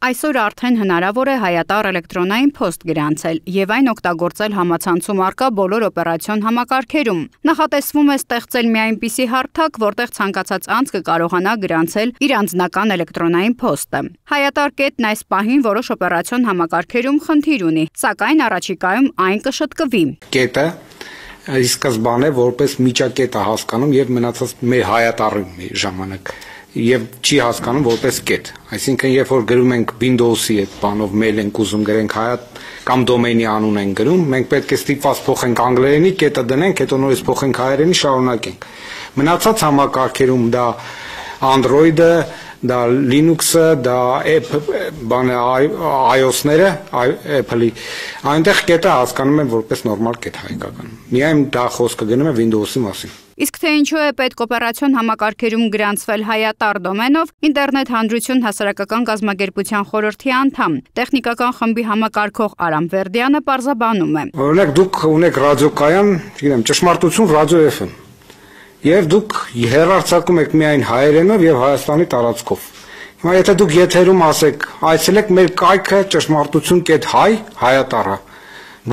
Այսօր արդեն հնարավոր է հայատառ էլեկտրոնային փոստ գրանցել եւ այն օգտագործել համացանցում առկա բոլոր օպերացիոն համակարգերում։ Նախատեսվում է ստեղծել մի այնպիսի հարթակ, որտեղ ցանկացած անձ կկարողանա գրանցել իր անձնական էլեկտրոնային փոստը։ Հայատառ կետն այս պահին որոշ օպերացիոն համակարգերում խնդիր ունի, սակայն առաջիկայում այն կշտկվի։ Կետը ի սկզբանե որպես միջակետ է հասկանում եւ մնացած մեր հայատառի ժամանակ եւ չի հասկանում որպես կետ, այսինքն երբ որ գրում ենք Windows-ի այդ բանով mail ենք ուզում գրենք հայատ կամ դոմեյնի անուն ենք գրում, մենք պետք է ստիպված փոխենք անգլերենի, կետը դնենք, հետո նորից փոխենք հայերենի, շարունակենք։ Մնացած համակարգերում դա Android-ը, դա Linux-ը, դա iOS-ները, Apple-ի, այնտեղ կետը հասկանում են որպես նորմալ կետ հայկական։ Միայն դա խոսքը գնում է Windows-ի մասին։ Իսկ թե ինչու է պետք օպերացիոն համակարգերում գրանցվել հայատառ դոմենով, ինտերնետ հանրություն հասարակական կազմակերպության խորհրդի անդամ, տեխնիկական խմբի համակարգող Արամ Վերդյանը պարզաբանում է։ Օրինակ դուք ունեք ռադիոկայան, չգիտեմ, ճշմարտություն ռադիո FM, եւ դուք հեռարձակում եք միայն հայերենով եւ Հայաստանի տարածքով։ Հիմա եթե դուք եթերում ասեք, այցելեք մեր կայքը ճշմարտություն.հայ հայատառը,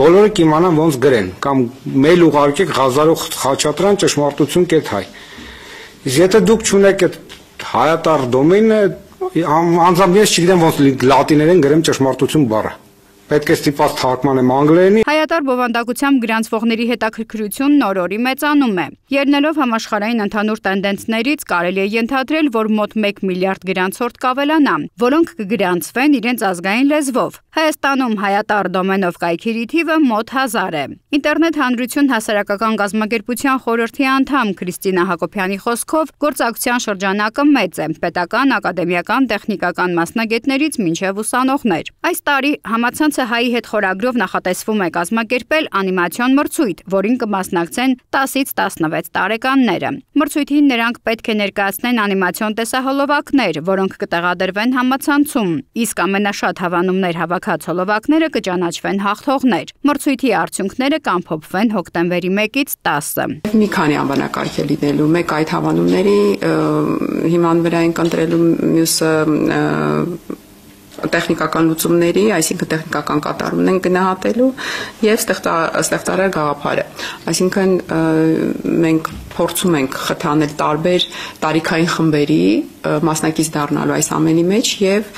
բոլորը կիմանան ոնց գրեն, կամ մեյլ ուղարկեք Ղազարող Խաչատրյան ճշմարտություն.հայ։ Իսկ եթե դուք չունեք այդ հայատառ դոմեյնը, անձամբ ես չգիտեմ ոնց լատիներեն գրեմ ճշմարտություն բառը։ Պետք է ստիպված թարգմանեմ անգլերենի։ Հայատառ բովանդակությամբ գրանցվողների հետաքրքրությունն օր-օրի մեծանում է։ Ելնելով համաշխարհային ընդհանուր տենդենսներից, կարելի է ենթադրել, որ մոտ 1 միլիարդ գրանցորդ կավելանա, որոնք կգրանցվեն իրենց ազգային լեզվով։ Հայաստանում հայատառ դոմենով կայքերի թիվը մոտ 1000 է։ Ինտերնետ հանրություն հասարակական կազմակերպության խորհրդի անդամ Քրիստինա Հակոբյանի խոսքով, գործակցության շրջանակը մեծ է՝ պետական, ակադեմիական, տեխնիկական մասնագետներից մինչև ուսանողներ։ Այս տարի համացանցը հայի հետ խորագրով նախատեսվում է կազմակերպել անիմացիոն մրցույթ, որին կմասնակցեն 10-ից 16 տարեկանները։ Մրցույթին նրանք պետք է ներկայացնեն անիմացիոն տեսահոլովակներ, որոնք կտեղադրվեն համացանցում, իսկ ամենաշատ հավանումներ հավաքած հոլովակները կճանաչվեն հաղթողներ։ Մրցույթի արդյունքները կամփոփվեն հոկտեմբերի 1-ից 10-ը։ Մի քանի անվանակարգ է լինելու, մեկ այդ հավանումների հիման վրա ենք ընտրելու, մյուսը տեխնիկական լուծումների, այսինքն տեխնիկական կատարումն են գնահատելու եւ ստեղծարար գաղափարը։ Այսինքն մենք փորձում ենք խթանել տարբեր տարիքային խմբերի մասնակից դառնալու այս ամենի մեջ եւ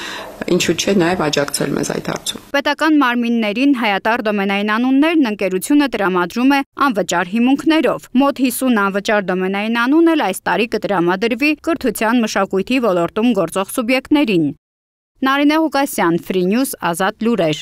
ինչու՞ չէ նաեւ աջակցել մեզ այդ հարցում։ Պետական մարմիններին հայատառ դոմենային անուններն ընկերությունը տրամադրում է անվճար հիմունքներով։ Մոտ 50 անվճար դոմենային անուն էլ այս տարի կտրամադրվի կրթության մշակույթի ոլորտում գործող սուբյեկտներին։ Նարինե Ղուկասյան, Free News, Ազատ լուրեր։